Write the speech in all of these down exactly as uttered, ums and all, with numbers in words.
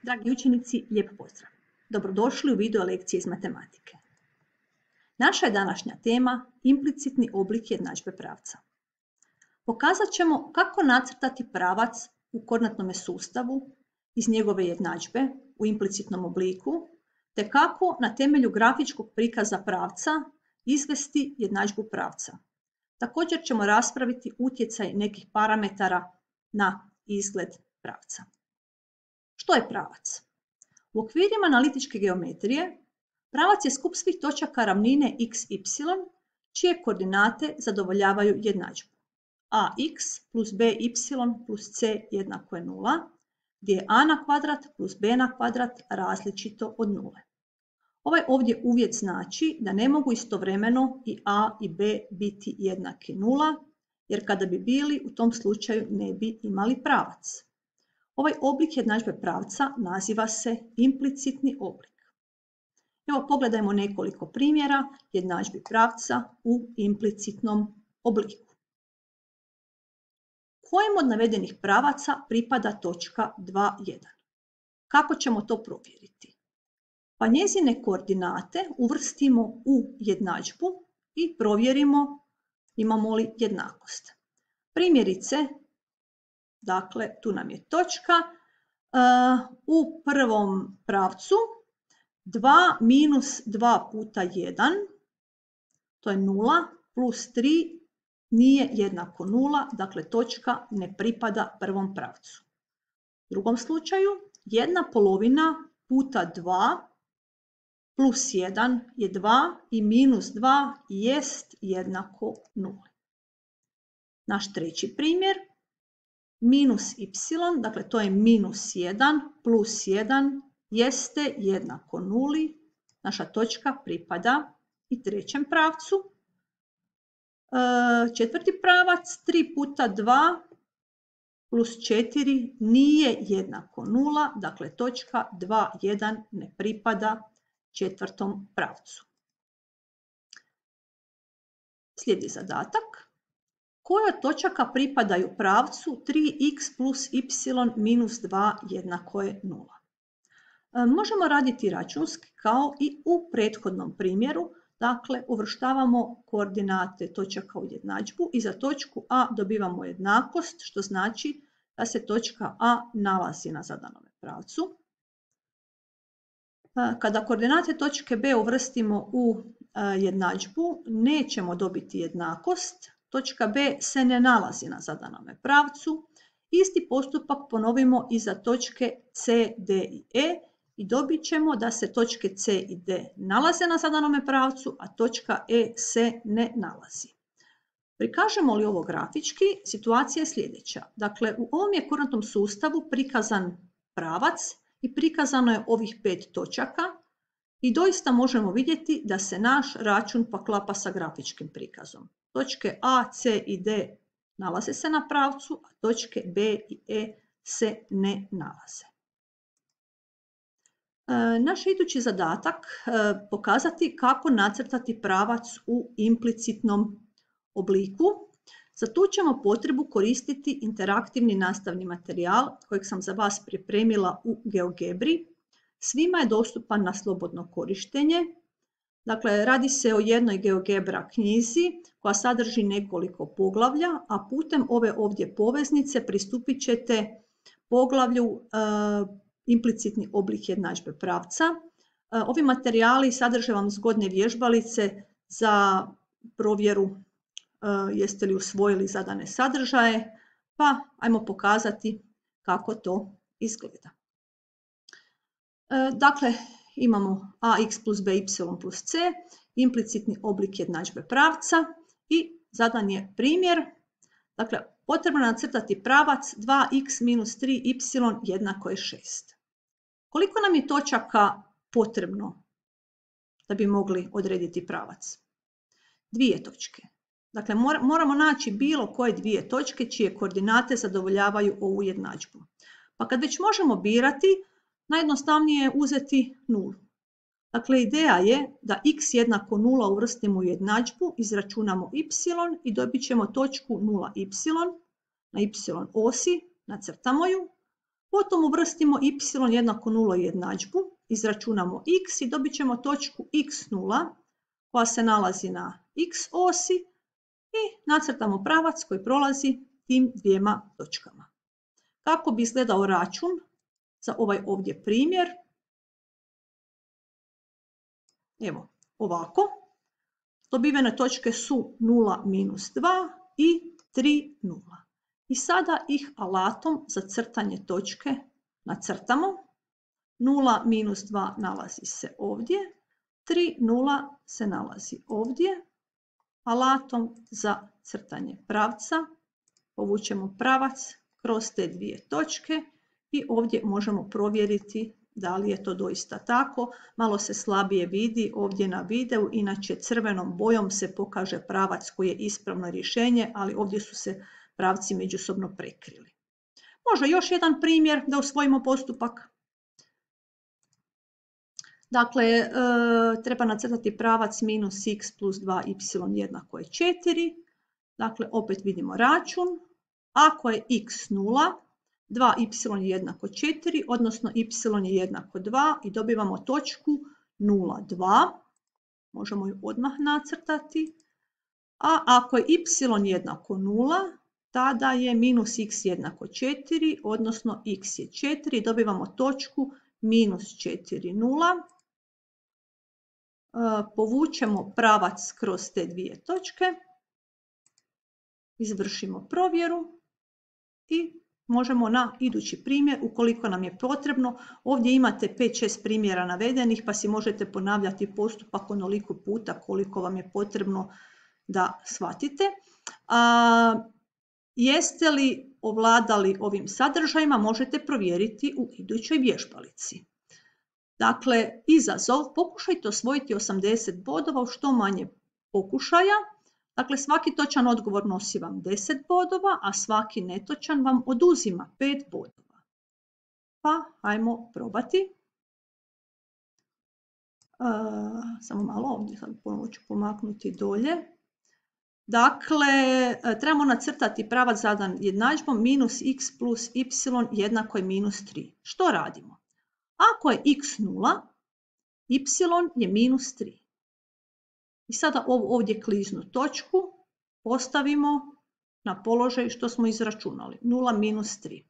Dragi učenici, lijep pozdrav. Dobrodošli u video lekcije iz matematike. Naša je današnja tema implicitni oblik jednadžbe pravca. Pokazat ćemo kako nacrtati pravac u koordinatnom sustavu iz njegove jednadžbe u implicitnom obliku, te kako na temelju grafičkog prikaza pravca izvesti jednadžbu pravca. Također ćemo raspraviti utjecaj nekih parametara na izgled pravca. Što je pravac? U okvirima analitičke geometrije, pravac je skup svih točaka ravnine x, y, čije koordinate zadovoljavaju jednadžbu. ax plus by plus c jednako je nula, gdje je a na kvadrat plus b na kvadrat različito od nule. Ovaj ovdje uvjet znači da ne mogu istovremeno i a i b biti jednaki nula, jer kada bi bili u tom slučaju ne bi imali pravac. Ovaj oblik jednadžbe pravca naziva se implicitni oblik. Evo pogledajmo nekoliko primjera jednadžbi pravca u implicitnom obliku. Kojem od navedenih pravaca pripada točka dva, jedan? Kako ćemo to provjeriti? Pa njezine koordinate uvrstimo u jednadžbu i provjerimo imamo li jednakost. Primjerice, dakle, tu nam je točka, u prvom pravcu dva minus dva puta jedan, to je nula, plus tri nije jednako nula, dakle točka ne pripada prvom pravcu. U drugom slučaju, jedna polovina puta dva plus jedan je dva i minus dva jest jednako nuli. Naš treći primjer, minus y, dakle to je minus jedan plus jedan jeste jednako nuli. Naša točka pripada i trećem pravcu. E, četvrti pravac, tri puta dva plus četiri nije jednako nula, dakle točka dva, jedan ne pripada četvrtom pravcu. Slijedi zadatak. Koje od točaka pripadaju pravcu tri x plus y minus dva jednako je nula? E, možemo raditi računski kao i u prethodnom primjeru. Dakle, uvrštavamo koordinate točaka u jednadžbu i za točku a dobivamo jednakost, što znači da se točka a nalazi na zadanome pravcu. E, kada koordinate točke b uvrstimo u e, jednadžbu, nećemo dobiti jednakost. Točka b se ne nalazi na zadanome pravcu. Isti postupak ponovimo i za točke c, d i e i dobit ćemo da se točke c i d nalaze na zadanome pravcu, a točka e se ne nalazi. Prikažemo li ovo grafički, situacija je sljedeća. Dakle, u ovom je koordinatnom sustavu prikazan pravac i prikazano je ovih pet točaka i doista možemo vidjeti da se naš račun poklapa sa grafičkim prikazom. Točke a, c i d nalaze se na pravcu, a točke b i e se ne nalaze. E, naš idući zadatak e, pokazati kako nacrtati pravac u implicitnom obliku. Za tu ćemo potrebu koristiti interaktivni nastavni materijal kojeg sam za vas pripremila u GeoGebri. Svima je dostupan na slobodno korištenje. Dakle, radi se o jednoj GeoGebra knjizi koja sadrži nekoliko poglavlja, a putem ove ovdje poveznice pristupit ćete poglavlju e, implicitni oblik jednadžbe pravca. E, ovi materijali sadrže vam zgodne vježbalice za provjeru e, jeste li usvojili zadane sadržaje, pa ajmo pokazati kako to izgleda. E, dakle, imamo ax plus by plus c, implicitni oblik jednadžbe pravca i zadan je primjer. Dakle, potrebno je nacrtati pravac dva x minus tri y jednako je šest. Koliko nam je točaka potrebno da bi mogli odrediti pravac? Dvije točke. Dakle, moramo naći bilo koje dvije točke čije koordinate zadovoljavaju ovu jednadžbu. Pa kad već možemo birati, najjednostavnije je uzeti nulu. Dakle, ideja je da x jednako nula uvrstimo u jednadžbu, izračunamo y i dobit ćemo točku nula y na y osi, nacrtamo ju. Potom uvrstimo y jednako nula jednadžbu, izračunamo x i dobit ćemo točku x nula koja se nalazi na x osi i nacrtamo pravac koji prolazi tim dvijema točkama. Kako bi izgledao račun za ovaj ovdje primjer? Evo, ovako. Dobivene točke su nula, minus dva i tri, nula. I sada ih alatom za crtanje točke nacrtamo. nula, minus dva nalazi se ovdje. tri, nula se nalazi ovdje. Alatom za crtanje pravca povučemo pravac kroz te dvije točke i ovdje možemo provjeriti da li je to doista tako. Malo se slabije vidi ovdje na videu, inače crvenom bojom se pokaže pravac koji je ispravno rješenje, ali ovdje su se pravci međusobno prekrili. Može još jedan primjer da usvojimo postupak. Dakle, e, treba nacrtati pravac minus x plus dva y jednako je četiri. Dakle, opet vidimo račun. Ako je x nula, dva y je jednako četiri, odnosno y je jednako dva i dobivamo točku nula, dva. Možemo ju odmah nacrtati. A ako je y jednako nula, tada je minus x jednako četiri, odnosno x je četiri i dobivamo točku minus četiri, nula. Povučemo pravac kroz te dvije točke, izvršimo provjeru i možemo na idući primjer, ukoliko nam je potrebno. Ovdje imate pet šest primjera navedenih pa si možete ponavljati postupak onoliko puta koliko vam je potrebno da shvatite. A, jeste li ovladali ovim sadržajima možete provjeriti u idućoj vježbalici. Dakle, izazov, pokušajte osvojiti osamdeset bodova u što manje pokušaja. Dakle, svaki točan odgovor nosi vam deset bodova, a svaki netočan vam oduzima pet bodova. Pa, hajmo probati. Uh, samo malo ovdje, sad ponovo ću pomaknuti dolje. Dakle, trebamo nacrtati pravac zadan jednadžbom minus x plus y jednako je minus tri. Što radimo? Ako je x nula, y je minus tri. I sada ovu ovdje kliznu točku postavimo na položaj što smo izračunali, nula minus tri.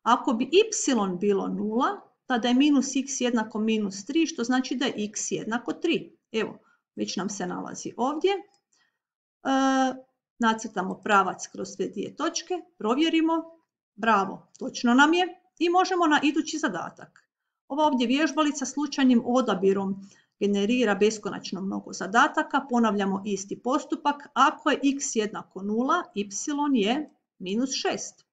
Ako bi y bilo nula, tada je minus x jednako minus tri, što znači da je x jednako tri. Evo, već nam se nalazi ovdje. E, nacrtamo pravac kroz sve dvije točke, provjerimo, bravo, točno nam je i možemo na idući zadatak. Ova ovdje vježbalica slučajnim odabirom generira beskonačno mnogo zadataka, ponavljamo isti postupak. Ako je x jednako nula, y je minus šest.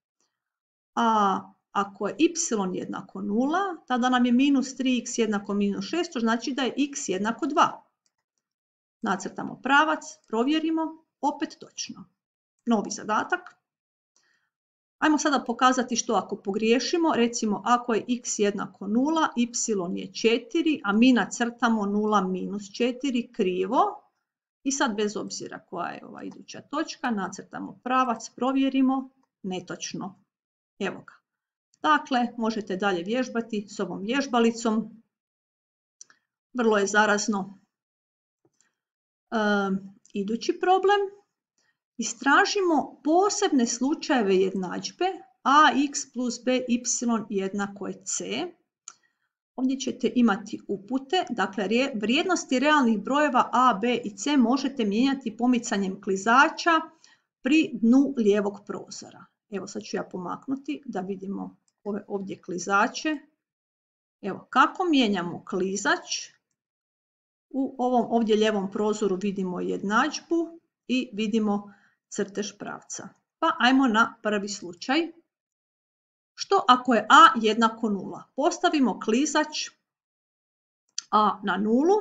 A ako je y jednako nula, tada nam je minus tri x jednako minus šest, to znači da je x jednako dva. Nacrtamo pravac, provjerimo, opet točno. Novi zadatak. Ajmo sada pokazati što ako pogriješimo. Recimo, ako je x jednako nula, y je četiri, a mi nacrtamo nula minus četiri krivo. I sad bez obzira koja je ova iduća točka, nacrtamo pravac, provjerimo, netočno. Evo ga. Dakle, možete dalje vježbati s ovom vježbalicom. Vrlo je zarazno. E, idući problem. Istražimo posebne slučajeve jednadžbe ax plus by jednako je c. Ovdje ćete imati upute, dakle vrijednosti realnih brojeva a, b i c možete mijenjati pomicanjem klizača pri dnu lijevog prozora. Evo sad ću ja pomaknuti da vidimo ove ovdje klizače. Evo kako mijenjamo klizač. U ovom ovdje lijevom prozoru vidimo jednadžbu i vidimo crtež pravca. Pa ajmo na prvi slučaj. Što ako je a jednako nula? Postavimo klizač a na nulu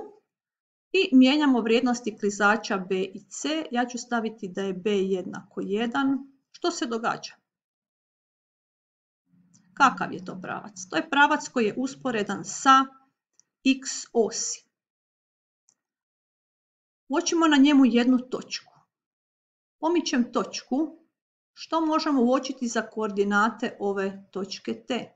i mijenjamo vrijednosti klizača b i c. Ja ću staviti da je b jednako jedan. Što se događa? Kakav je to pravac? To je pravac koji je usporedan sa x osi. Uočimo na njemu jednu točku. Pomičem točku. Što možemo uočiti za koordinate ove točke T?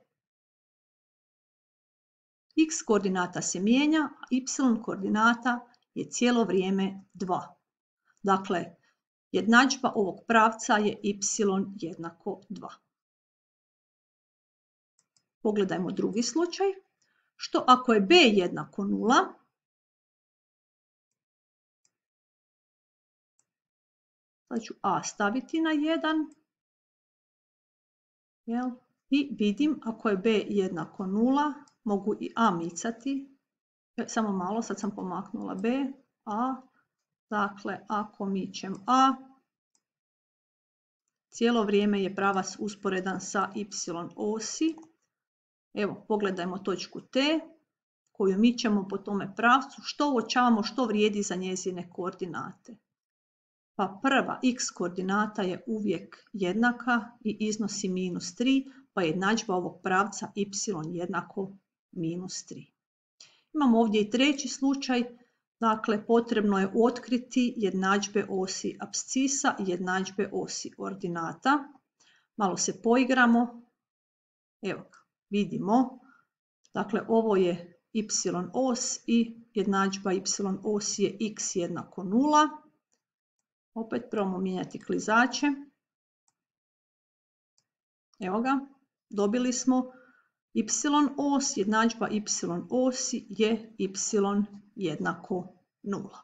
X koordinata se mijenja, a Y koordinata je cijelo vrijeme dva. Dakle, jednadžba ovog pravca je y jednako dva. Pogledajmo drugi slučaj. Što ako je b jednako nula? Sad ću a staviti na jedan. Jel? I vidim, ako je b jednako nula, mogu i a micati. E, samo malo, sad sam pomaknula b, a. Dakle, ako mičem a, cijelo vrijeme je pravac usporedan sa y osi. Evo, pogledajmo točku T, koju mičemo po tome pravcu. Što uočavamo, što vrijedi za njezine koordinate? Pa prva x koordinata je uvijek jednaka i iznosi minus tri, pa jednadžba ovog pravca y jednako minus tri. Imamo ovdje i treći slučaj. Dakle, potrebno je otkriti jednadžbe osi apscisa i jednadžbe osi ordinata. Malo se poigramo. Evo, vidimo. Dakle, ovo je y os i jednadžba y osi je x jednako nula. Opet probamo mijenjati klizače. Evo ga, dobili smo y os, jednadžba y osi je y jednako nula.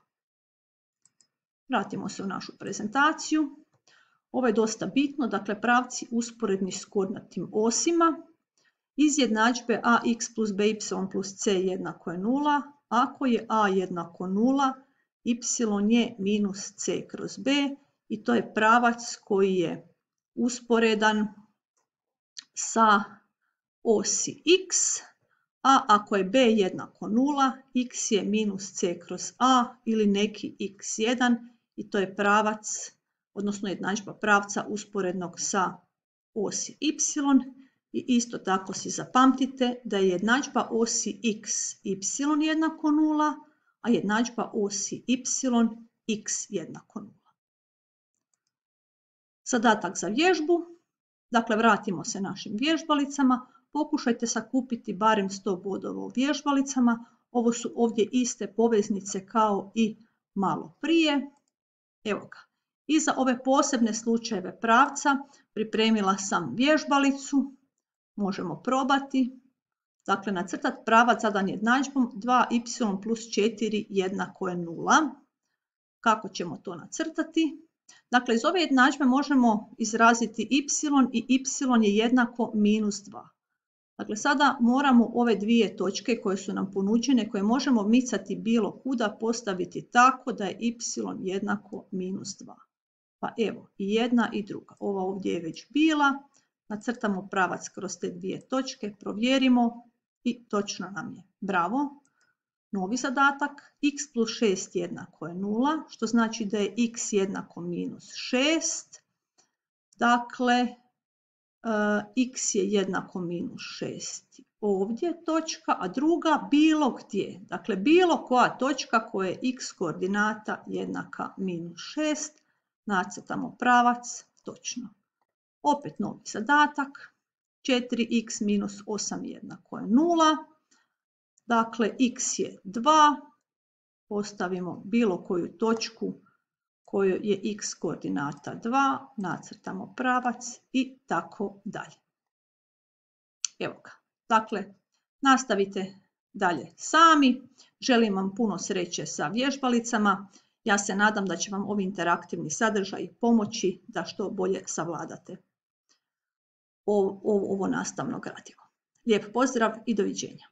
Vratimo se u našu prezentaciju. Ovo je dosta bitno, dakle pravci usporedni s koordinatnim osima. Iz jednadžbe ax plus by plus c jednako je nula. Ako je a jednako nula, y je minus c kroz b i to je pravac koji je usporedan sa osi x, a ako je b jednako nula, x je minus c kroz a ili neki x jedan i to je pravac, odnosno jednadžba pravca usporednog sa osi y. I isto tako si zapamtite da je jednadžba osi x y jednako nula, a jednadžba osi y x jednako nula. Zadatak za vježbu. Dakle, vratimo se našim vježbalicama. Pokušajte sakupiti barem sto bodova u vježbalicama. Ovo su ovdje iste poveznice kao i malo prije. Evo ga. I za ove posebne slučajeve pravca pripremila sam vježbalicu. Možemo probati. Dakle, nacrtati pravac zadan jednadžbom dva y plus četiri jednako je nula. Kako ćemo to nacrtati? Dakle, iz ove jednadžbe možemo izraziti y i y je jednako minus dva. Dakle, sada moramo ove dvije točke koje su nam ponuđene, koje možemo micati bilo kuda, postaviti tako da je y jednako minus dva. Pa evo, i jedna i druga. Ova ovdje je već bila. Nacrtamo pravac kroz te dvije točke, provjerimo i točno nam je. Bravo. Novi zadatak, x plus šest jednako je nula, što znači da je x jednako minus šest. Dakle, x je jednako minus šest. Ovdje točka, a druga bilo gdje. Dakle, bilo koja točka koja je x koordinata jednaka minus šest. Nacrtamo pravac, točno. Opet novi zadatak, četiri x minus osam jednako je nula. Dakle, x je dva, postavimo bilo koju točku kojoj je x koordinata dva, nacrtamo pravac i tako dalje. Evo ga. Dakle, nastavite dalje sami. Želim vam puno sreće sa vježbalicama. Ja se nadam da će vam ovi interaktivni sadržaji pomoći da što bolje savladate ovo nastavno gradivo. Lijep pozdrav i doviđenja.